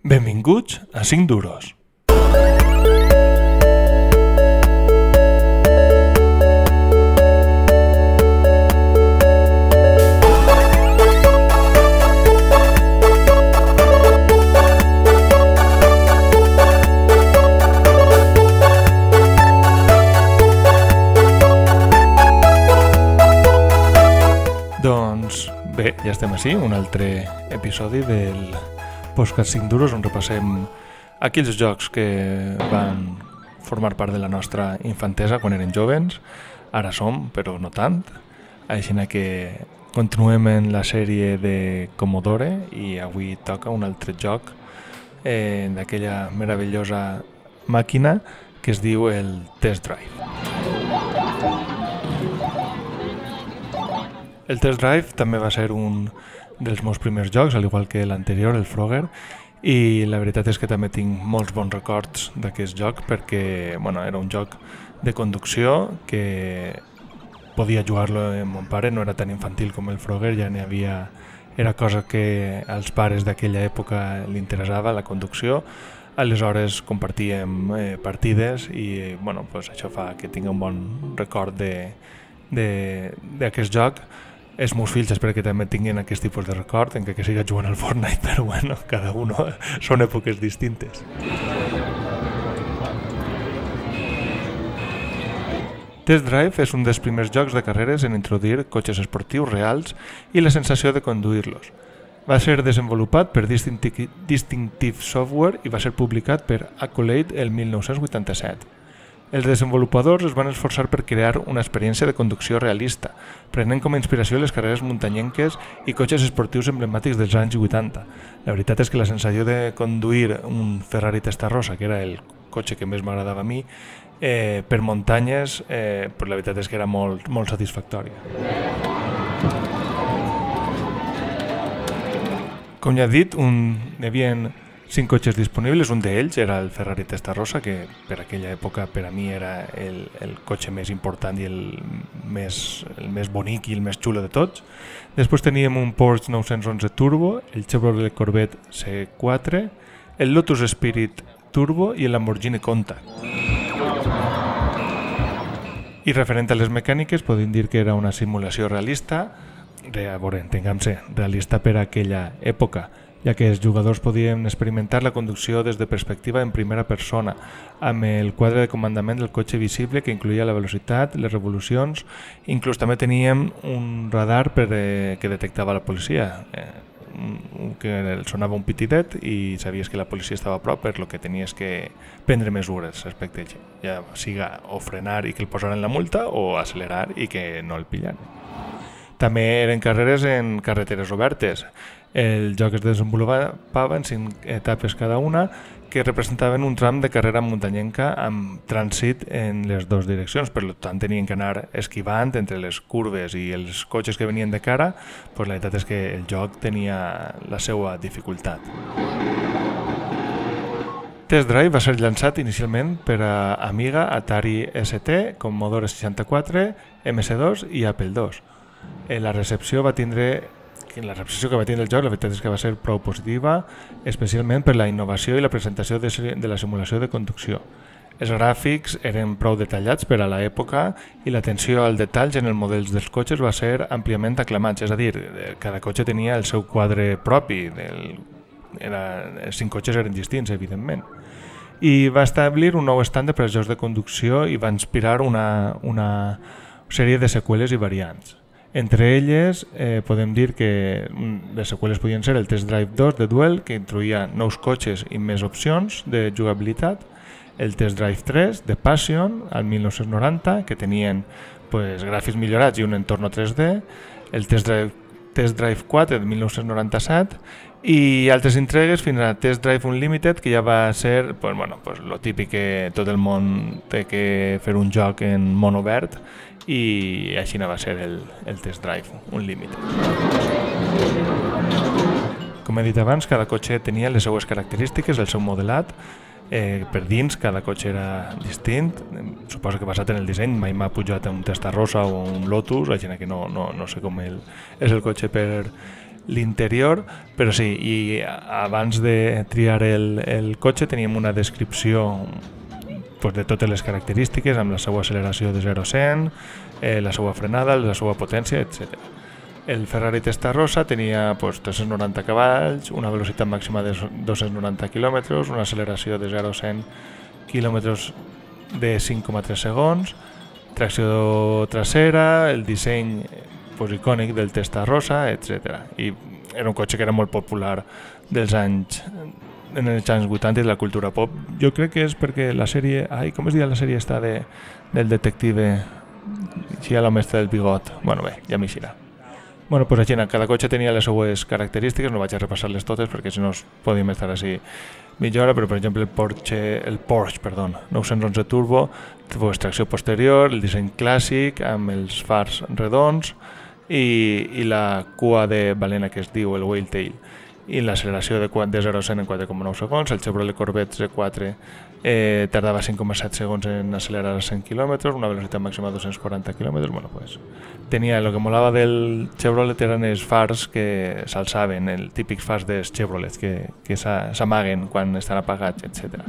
Benvinguts a 5 duros. Doncs bé, ja estem així, un altre episodi del podcast 5 duros on repassem aquells jocs que van formar part de la nostra infantesa quan eren jovens, ara som, però no tant. Així que continuem en la sèrie de Commodore i avui toca un altre joc d'aquella meravellosa màquina que es diu el Test Drive. El Test Drive també va ser un dels meus primers jocs, al igual que l'anterior, el Frogger, i la veritat és que també tinc molts bons records d'aquest joc perquè era un joc de conducció que podia jugar-lo amb mon pare, no era tan infantil com el Frogger, ja n'hi havia, era cosa que als pares d'aquella època li interessava, la conducció. Aleshores compartíem partides i això fa que tingui un bon record d'aquest joc. Els meus fills espero que també tinguin aquest tipus de record, encara que siga jugant al Fortnite, però cada uno són èpoques distintes. Test Drive és un dels primers jocs de carreres en introduir cotxes esportius reals i la sensació de conduir-los. Va ser desenvolupat per Distinctive Software i va ser publicat per Accolade el 1987. Els desenvolupadors es van esforçar per crear una experiència de conducció realista, prenent com a inspiració les carreres muntanyenques i cotxes esportius emblemàtics dels anys 80. La veritat és que la sensació de conduir un Ferrari Testarossa, que era el cotxe que més m'agradava a mi, per muntanyes, la veritat és que era molt satisfactòria. Com ja he dit, hi havia 5 cotxes disponibles, un d'ells era el Ferrari Testarossa, que per aquella època per a mi era el cotxe més important i el més bonic i el més xulo de tots. Després teníem un Porsche 911 Turbo, el Chevrolet Corvette C4, el Lotus Spirit Turbo i el Lamborghini Countach. I referent a les mecàniques, podem dir que era una simulació realista, entenguem-se, realista per a aquella època, ja que els jugadors podien experimentar la conducció des de perspectiva en primera persona, amb el quadre de comandament del cotxe visible que incloïa la velocitat, les revolucions, inclús també teníem un radar que detectava la policia, que sonava un pitidet i sabies que la policia estava a prop, per lo que tenies que prendre mesures respecte a ell, ja siga o frenar i que el posaren la multa o accelerar i que no el pillan. També eren carreres en carreteres obertes. El joc es desenvolupava en 5 etapes cada una que representaven un tram de carrera muntanyenca amb trànsit en les dues direccions. Per tant, tenien que anar esquivant entre les curves i els cotxes que venien de cara. La veritat és que el joc tenia la seva dificultat. Test Drive va ser llançat inicialment per a Amiga, Atari ST, Commodore 64, MS2 i Apple II. La recepció que va tindre el joc, la veritat és que va ser prou positiva, especialment per la innovació i la presentació de la simulació de conducció. Els gràfics eren prou detallats per a l'època i l'atenció als detalls en els models dels cotxes va ser àmpliament aclamats, és a dir, cada cotxe tenia el seu quadre propi, els 5 cotxes eren distints, evidentment. I va establir un nou estàndard per als jocs de conducció i va inspirar una sèrie de seqüeles i variants. Entre elles podem dir que les seqüeles podien ser el Test Drive 2 de Duel, que introduïa nous cotxes i més opcions de jugabilitat, el Test Drive 3 de Passion al 1990, que tenien gràfics millorats i un entorn 3D, el Test Drive 4 de 1997 i altres entregues fins a Test Drive Unlimited, que ja va ser lo típic que tot el món té que fer un joc en món obert, i així va ser el Test Drive Unlimited. Com he dit abans, cada cotxe tenia les seues característiques, el seu modelat. Per dins cada cotxe era distint, suposo que basat en el disseny. Mai m'ha pujat un Testarossa o un Lotus, així que no sé com és el cotxe per l'interior, però sí, i abans de triar el cotxe teníem una descripció de totes les característiques, amb la seva acceleració de 0 a 100, la seva frenada, la seva potència, etc. El Ferrari Testarossa tenia 390 cavalls, una velocitat màxima de 290 km, una acceleració de 0 a 100 km de 5,3 segons, tracció trasera, el disseny icònic del Testarossa, etc. I era un cotxe que era molt popular en els anys 80 i de la cultura pop. Jo crec que és perquè la sèrie... com es diu la sèrie esta del detective? Així a l'home del bigot. Bueno, bé, ja m'eixirà. Bueno, pues així, cada cotxe tenia les seues característiques, no vaig a repassar-les totes perquè si no podíem estar així mitja hora, però per exemple el Porsche 911 Turbo, tracció posterior, el disseny clàssic amb els fars redons i la cua de balena que es diu el Whale Tail, i l'acceleració de 0 a 100 en 4,9 segons. El Chevrolet Corvette Z4 tardava 5,7 segons en accelerar a 100 km, una velocitat màxima de 240 km. Bueno, pues, tenia, el que molava del Chevrolet eren els fars que s'alçaven, el típic fars dels Chevrolets que s'amaguen quan estan apagats, etc.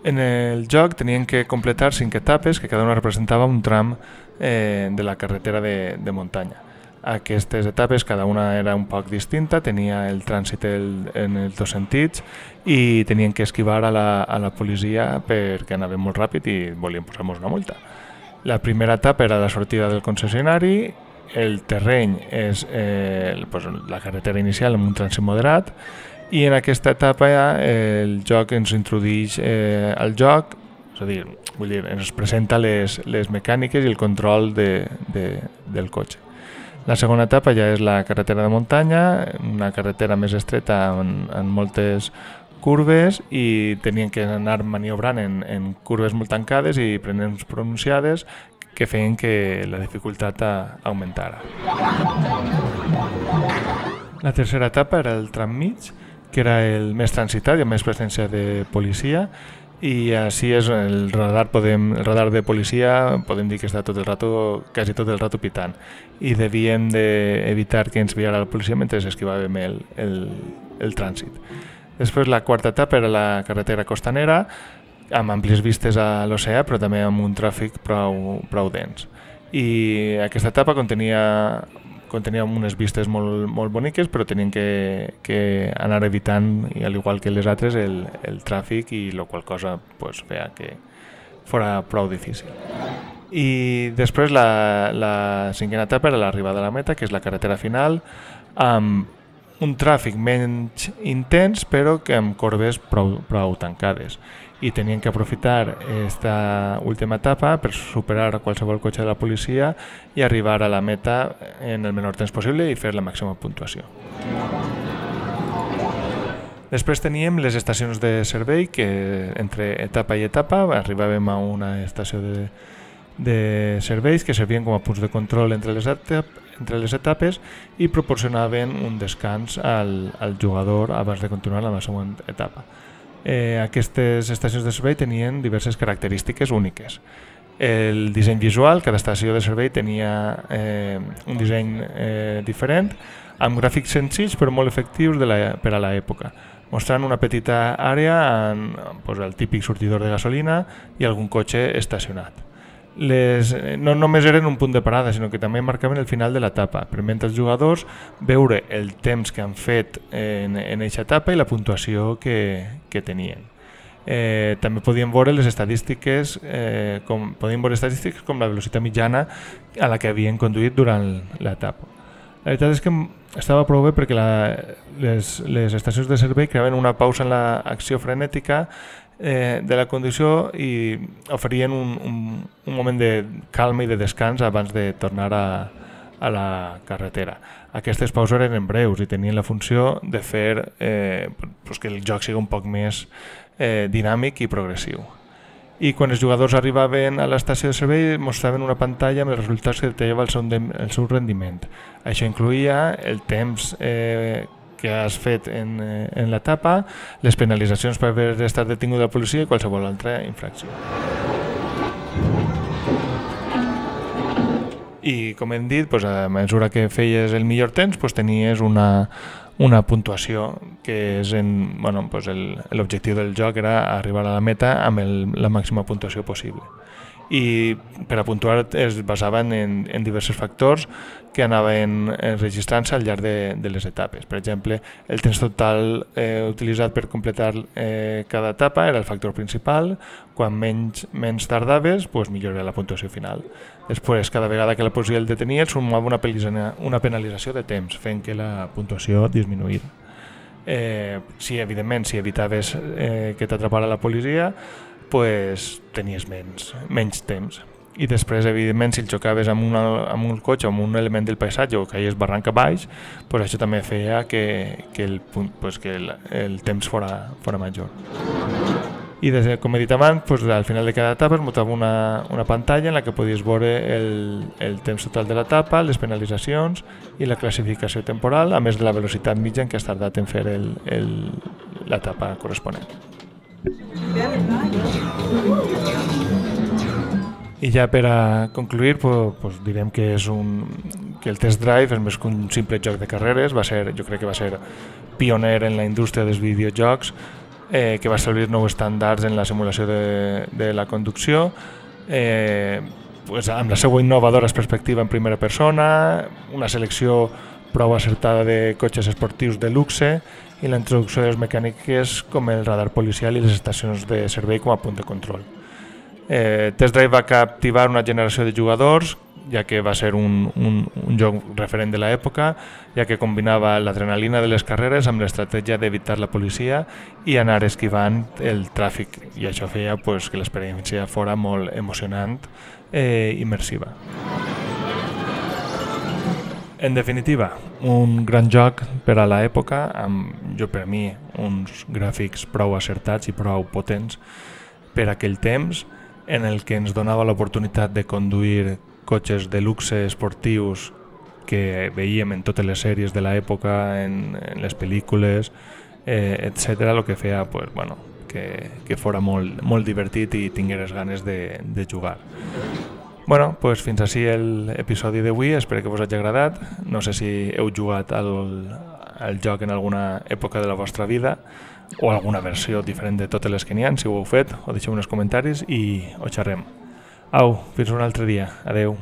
En el joc tenien que completar 5 etapes que cada una representava un tram de la carretera de muntanya. Aquestes etapes, cada una era un poc distinta, tenia el trànsit en els dos sentits i tenien que esquivar a la policia perquè anaven molt ràpid i volien posar-nos una multa. La primera etapa era la sortida del concessionari, el terreny és la carretera inicial amb un trànsit moderat, i en aquesta etapa el joc ens introdueix al joc, és a dir, ens presenta les mecàniques i el control del cotxe. La segona etapa ja és la carretera de muntanya, una carretera més estreta en moltes curves, i tenien que anar maniobrant en curves molt tancades i prenents pronunciades que feien que la dificultat augmentara. La tercera etapa era el tram mig, que era el més transitat i amb més presència de policia, i així és el radar de policia, podem dir que està quasi tot el rato pitant, i devíem d'evitar que ens viara la policia mentre esquivàvem el trànsit. Després la quarta etapa era la carretera costanera, amb àmplies vistes a l'oceà, però també amb un tràfic prou dens. I aquesta etapa contenia unes vistes molt boniques, però tenien que anar evitant, al igual que les altres, el tràfic, i la qual cosa feia que fos prou difícil. I després la cinquena etapa era l'arribada a la meta, que és la carretera final, amb un tràfic menys intens, però que amb corbes prou tancades. I tenien que aprofitar aquesta última etapa per superar qualsevol cotxe de la policia i arribar a la meta en el menor temps possible i fer la màxima puntuació. Després teníem les estacions de servei, que entre etapa i etapa arribàvem a una estació de serveis que servien com a punts de control entre les etapes i proporcionaven un descans al jugador abans de continuar la següent etapa. Aquestes estacions de servei tenien diverses característiques úniques. El disseny visual, cada estació de servei tenia un disseny diferent, amb gràfics senzills però molt efectius per a l'època, mostrant una petita àrea amb el típic sortidor de gasolina i algun cotxe estacionat. No només eren un punt de parada, sinó que també marcaven el final de l'etapa, permetent als jugadors veure el temps que han fet en aquesta etapa i la puntuació que tenien. També podíem veure les estadístiques, com la velocitat mitjana a la que havien conduït durant l'etapa. La veritat és que estava prou bé perquè les estacions de servei creaven una pausa en l'acció frenètica de la conducció i oferien un moment de calma i de descans abans de tornar a la carretera. Aquestes pauses eren breus i tenien la funció de fer que el joc sigui un poc més dinàmic i progressiu. I quan els jugadors arribaven a l'estació de servei mostraven una pantalla amb els resultats que detallava el seu rendiment. Això incloïa el temps que has fet en l'etapa, les penalitzacions per haver estat detingut de la policia i qualsevol altra infracció. I com hem dit, a mesura que feies el millor temps, tenies una puntuació que és l'objectiu del joc era arribar a la meta amb la màxima puntuació possible. I per a puntuar es basaven en diversos factors que anaven registrant-se al llarg de les etapes. Per exemple, el temps total utilitzat per completar cada etapa era el factor principal. Quan menys tardaves, millor era la puntuació final. Després, cada vegada que la policia el detenia, et sumava una penalització de temps, fent que la puntuació disminuïra. Evidentment, si evitaves que t'atrapara la policia, tenies menys temps. I després, evidentment, si el xocaves amb un cotxe o amb un element del paisatge o caies barranc a baix, això també feia que el temps fora major. I com he dit abans, al final de cada etapa es muntava una pantalla en la que podies veure el temps total de l'etapa, les penalitzacions i la classificació temporal, a més de la velocitat mitja en què has tardat en fer l'etapa corresponent. I ja per a concluir, direm que el Test Drive és més que un simple joc de carreres, jo crec que va ser pioner en la indústria dels videojocs, que va establir nous estàndards en la simulació de la conducció, amb la seva innovadora perspectiva en primera persona, una selecció prou acertada de cotxes esportius de luxe i la introducció de les mecàniques com el radar policial i les estacions de servei com a punt de control. Test Drive va captivar una generació de jugadors, ja que va ser un joc referent de l'època, ja que combinava l'adrenalina de les carreres amb l'estratègia d'evitar la policia i anar esquivant el tràfic, i això feia que l'experiència fora molt emocionant i immersiva. En definitiva, un gran joc per a l'època, amb, per mi, uns gràfics prou acertats i prou potents per aquell temps, en el que ens donava l'oportunitat de conduir cotxes de luxe esportius que veiem en totes les sèries de l'època, en les pel·lícules, etc., el que feia que fora molt divertit i tingueres ganes de jugar. Fins així l'episodi d'avui, espero que us hagi agradat. No sé si heu jugat al joc en alguna època de la vostra vida o alguna versió diferent de totes les que n'hi ha. Si ho heu fet, ho deixeu en els comentaris i ho xerrem. Au, fins un altre dia. Adeu.